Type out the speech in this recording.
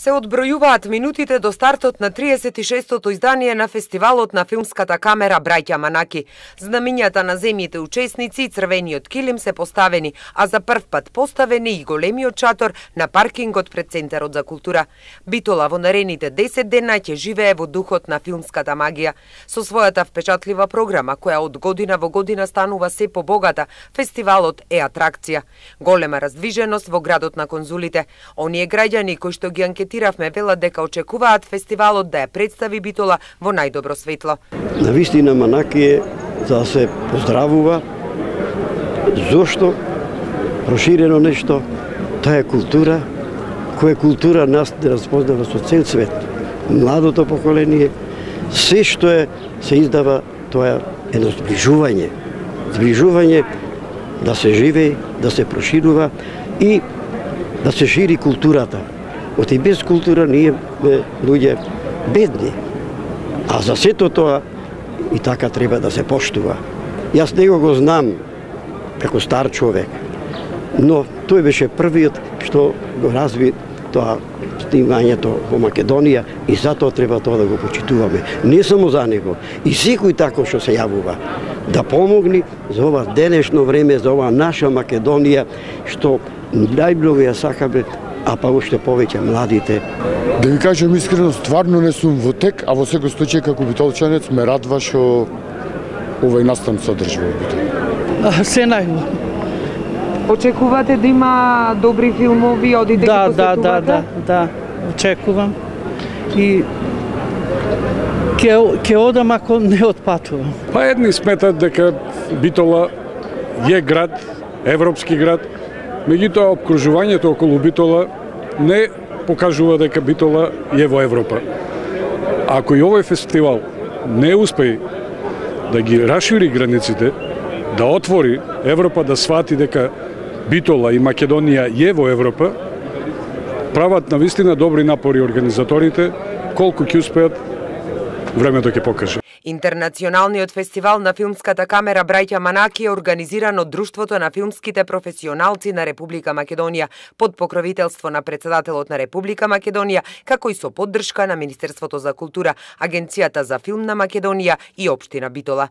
Се одбројуваат минутите до стартот на 36-тото издание на фестивалот на филмската камера Браќа Манаки. Знамињата на земјите учесници и црвениот килим се поставени, а за прв пат поставени и големиот шатор на паркингот пред Центарот за култура. Битола во наредните 10 дена ќе живее во духот на филмската магија. Со својата впечатлива програма, која од година во година станува се побогата, фестивалот е атракција. Голема раздвиженост во градот на конзулите. Оние граѓани кои што ги анкетиравме велат дека очекуваат фестивалот да ја представи Битола во најдобро светло. Навистина Манаки е за да се поздравува. Зошто? Проширено нешто. Таа е култура, која култура нас да разпознава со цел свет. Младото поколение, се што се издава, тоа е едно зближување. Зближување да се живее, да се проширува и да се шири културата. Оти без култура ние луѓе бедни. А за сето тоа и така треба да се поштува. Јас него го знам како стар човек, но тој беше првиот што го разви тоа снимањето во Македонија и затоа треба тоа да го почитуваме. Не само за него, и секој тако што се јавува да помогни за ова денешно време, за ова наша Македонија што најмногу ја сакаме, а па уште повеќе младите. Да ви кажам искрено, стварно не сум во тек, а во секој случај како битолчанец ме радва што овој настан се одржи во Битола. Се најубаво. Очекувате да има добри филмови, одите ги посетувате? Да, очекувам. И ќе одам ако не отпатувам. Па едни сметат дека Битола е град, европски град, меѓутоа обкружувањето околу Битола не покажува дека Битола е во Европа. Ако и овој фестивал не успее да ги расшири границите, да отвори Европа, да свати дека Битола и Македонија е во Европа, прават навистина добри напори организаторите, колку ќе успеат, времето ќе покаже. Интернационалниот фестивал на филмската камера Браќа Манаки е организиран од Друштвото на филмските професионалци на Република Македонија под покровителство на председателот на Република Македонија, како и со поддршка на Министерството за култура, Агенцијата за филм на Македонија и општина Битола.